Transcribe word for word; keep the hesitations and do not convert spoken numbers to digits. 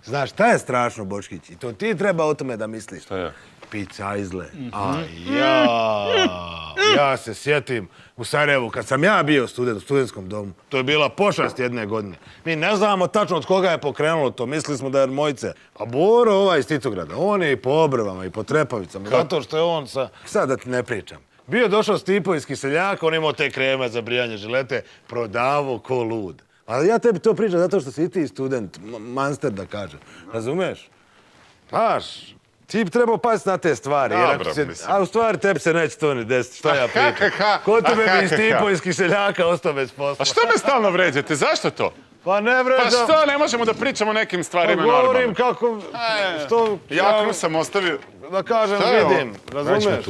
Znaš, šta je strašno, Boškić? I to ti treba o tome da misliš. Šta je? Picajzle. A ja, ja se sjetim u Sarajevu, kad sam ja bio student u studentskom domu, to je bila pošast jedne godine. Mi ne znamo tačno od koga je pokrenulo to, mislili smo da je Mojice. A Boro ovaj iz Titograda, on je i po Obrvama i po Trepavicama, zato što je on sa... Sad da ti ne pričam. Bio došao Stipo iz Kiseljaka, on imao te kreme za brijanje žilete, prodavo ko lud. Ali ja tebi to pričam zato što si ti student, manster da kažem. Razumeš? Znaš, ti bi trebao paziti na te stvari. A u stvari tebi se neće to ni desiti, šta ja pričam. Ko tebe bi Stipo iz Kiseljaka ostao bez posla? A što me stalno vređate, zašto to? Pa ne vređam. Pa što, ne možemo da pričamo o nekim stvarima normalno? Govorim kako... Jaknu sam ostavio. Da kažem, vidim, razumeš?